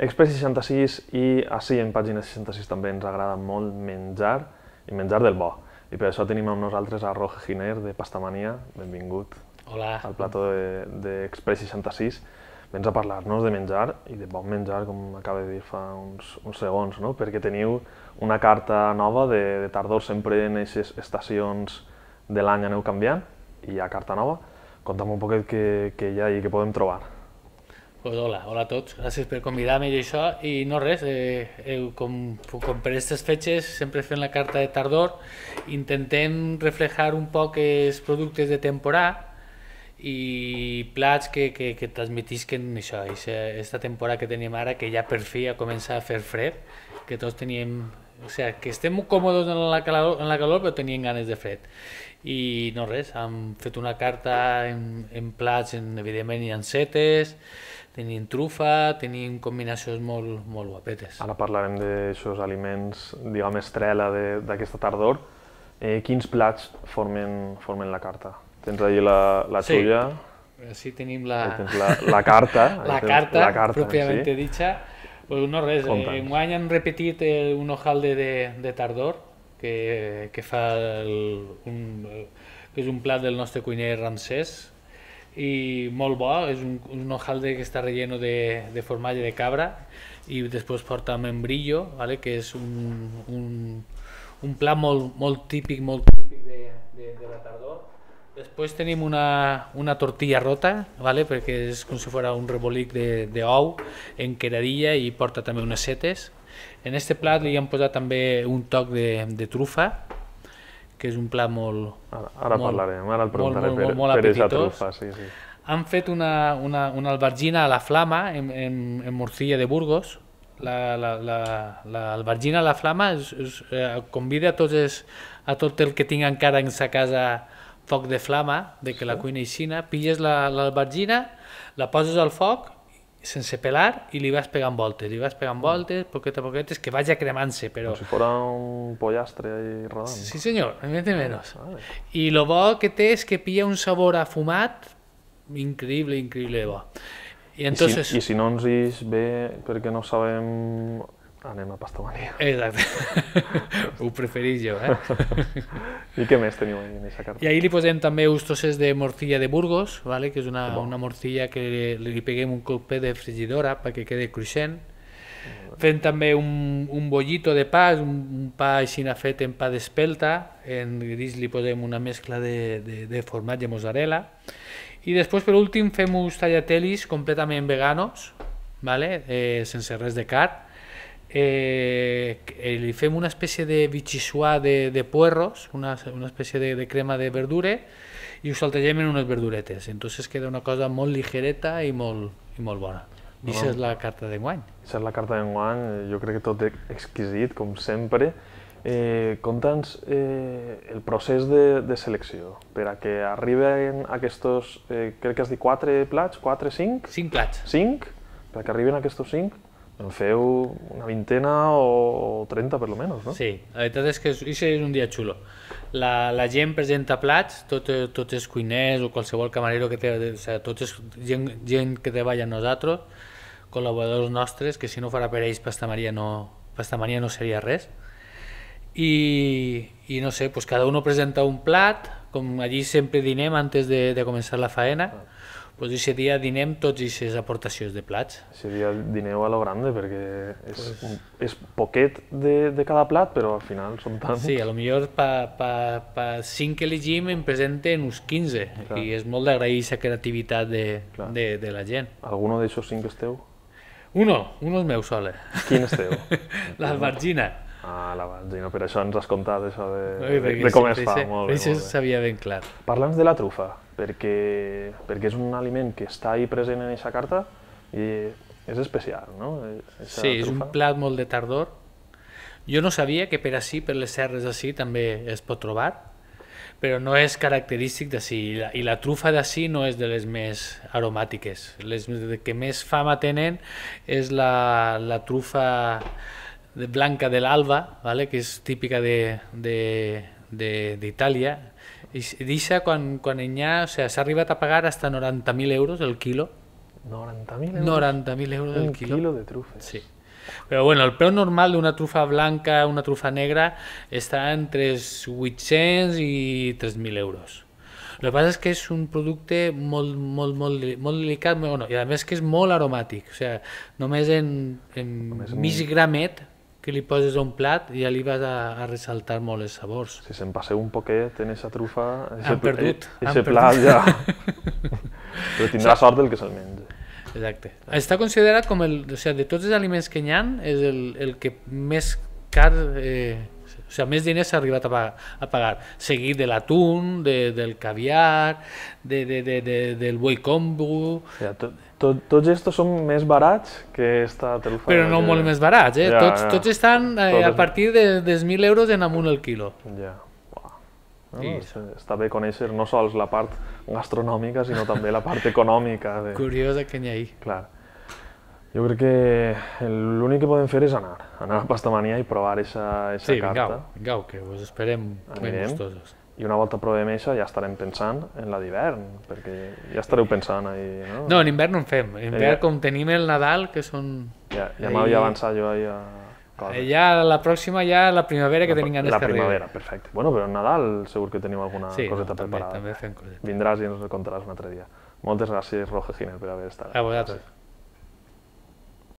Express 66 i així en pàgina 66 també ens agrada molt menjar i menjar del bo. I per això tenim amb nosaltres a Roge Giner de Pastamania. Benvingut. Hola. Al plató d'Express 66. Vens a parlar-nos de menjar i de bon menjar, com acaba de dir fa uns segons, no? Perquè teniu una carta nova de tardor, sempre en aquestes estacions de l'any aneu canviant i hi ha carta nova. Conta'm un poquet què hi ha i què podem trobar. Pues hola a tots, gràcies per convidar-me i això, i no res, com per aquestes fetges sempre fem la carta de tardor, intentem reflejar un poc els productes de temporada i plats que transmetisquen això, aquesta temporada que tenim ara, que ja per fi ja comença a fer fred, que tots teníem, o sigui, que estem còmodes en la calor però teníem ganes de fred. I no res, hem fet una carta en plats, evidentment hi ha setes, tenim trufa, tenim combinacions molt guapetes. Ara parlarem d'aixòs aliments, diguem, estrella d'aquesta tardor. Quins plats formen la carta? Tens allà la xulla? Sí, tenim la carta. La carta, pròpiament dicha. Pues no res, enguany han repetit un hojaldre de tardor, que és un plat del nostre cuiner Ramsès, i molt bo, és un hojaldre que està relleno de formatge de cabra i després porta membrillo, que és un plat molt típic de la tardor. Després tenim una tortilla rota, perquè és com si fos un rebolic d'ou en queradilla i porta també unes setes. En aquest plat li hem posat també un toc de trufa, que és un plat molt... Ara parlarem, ara el preguntaré per aquesta trufa. Han fet una albergina a la flama en morcilla de Burgos. L'albergina a la flama convida a tot el que tingui encara en sa casa foc de flama, que la cuina aixina, pilles l'albergina, la poses al foc sense pelar i li vas pegant voltes, poquet a poquet, que vagi cremant-se. Com si fos un pollastre rodant. Sí senyor, ni més ni menys. I el bo que té és que pilla un sabor afumat increïble bo. I si no ens ix bé perquè no sabem, anem a Pastamania. Exacte, ho preferís jo. I què més teniu en aquesta carta? I ahir li posem també uns trossos de morcilla de Burgos, que és una morcilla que li peguem un colpet de frigidora perquè quedi cruixent. Fem també un bollito de pa, un pa així fet en pa d'espelta, en gris li posem una mescla de formatge mozzarella. I després, per últim, fem uns tagliatellis completament veganos, sense res de carn. Li fem una espècie de vichyssoise de puerros, una espècie de crema de verdura, i ho saltegem en unes verduretes. Entonces queda una cosa molt ligereta i molt bona. I això és la carta d'enguany. Això és la carta d'enguany, jo crec que tot exquisit, com sempre. Conta'ns el procés de selecció per a que arriben aquests, crec que has dit 4 plats, 4, 5? 5 plats. 5? Per a que arriben aquests 5? En feu una vintena o 30 per lo menos, no? Sí, la veritat és que això és un dia xulo. La gent presenta plats, tots els cuiners o qualsevol camarero que té, tots és gent que treballa amb nosaltres, col·laboradors nostres, que si no fora per ells Pastamania no seria res. I no sé, cada un presenta un plat, com allí sempre dinem antes de començar la faena, doncs aquest dia dinem tots aquestes aportacions de plats. Aquest dia dineu a lo grande perquè és poquet de cada plat, però al final són tants. Sí, potser per 5 que elegim en presenten uns 15 i és molt d'agrair aquesta creativitat de la gent. Alguno d'aixòs 5 esteu? Uno és meu sol. Quin esteu? L'albergina. L'albergina, per això ens has contat això de com es fa. Això sabia ben clar. Parla'ns de la trufa, perquè és un aliment que està ahí present en aquesta carta i és especial, no? Sí, és un plat molt de tardor. Jo no sabia que per ací, per les serres d'ací, també es pot trobar, però no és característic d'ací. I la trufa d'ací no és de les més aromàtiques. Les que més fama tenen és la trufa blanca de l'Alba, que és típica d'Itàlia. Quan s'ha arribat a pagar fins a 90.000 euros el quilo 90.000 euros? 90.000 euros el Un quilo. quilo de trufes. Sí. Però bueno, el preu normal d'una trufa blanca, una trufa negra, està entre els 800 i 3.000 euros. El que passa és que és un producte molt delicat, bueno, i a més que és molt aromàtic, o sigui, només en mig gramet que li poses a un plat i ja li vas a ressaltar molt els sabors. Si se'n passeu un poquet en aquesta trufa, Han perdut. Aquest plat ja... Però tindrà sort del que se'l menja. Exacte. Està considerat com o sigui, de tots els aliments que hi ha, és el que més car, o sigui, més diners s'ha arribat a pagar, seguit de l'atún, del caviar, del boi kombu... Ja, tots estos són més barats que esta trufa. Però no molt més barats, eh? Ja, tots estan a partir de 1.000 euros en amunt el quilo. Ja. No, està bé conèixer no sols la part gastronòmica, sinó també la part econòmica. Curiosa que n'hi ha. Clar. Jo crec que l'únic que podem fer és anar a Pastamania i provar aquesta carta. Sí, vingueu, que us esperem ben gustosos. I una volta provem això ja estarem pensant en la d'hivern, perquè ja estareu pensant ahí, no? No, en hivern no en fem. En hivern, com tenim el Nadal, que són... Ja m'havia avançat jo ahir a... Ja la pròxima, ja la primavera que tenim ganes que arribi. La primavera, perfecte. Bueno, però en Nadal segur que teniu alguna coseta preparada. Sí, també fem coseta. Vindràs i ens ho contaràs un altre dia. Moltes gràcies, Roger Giner, per haver estat. A vosaltres.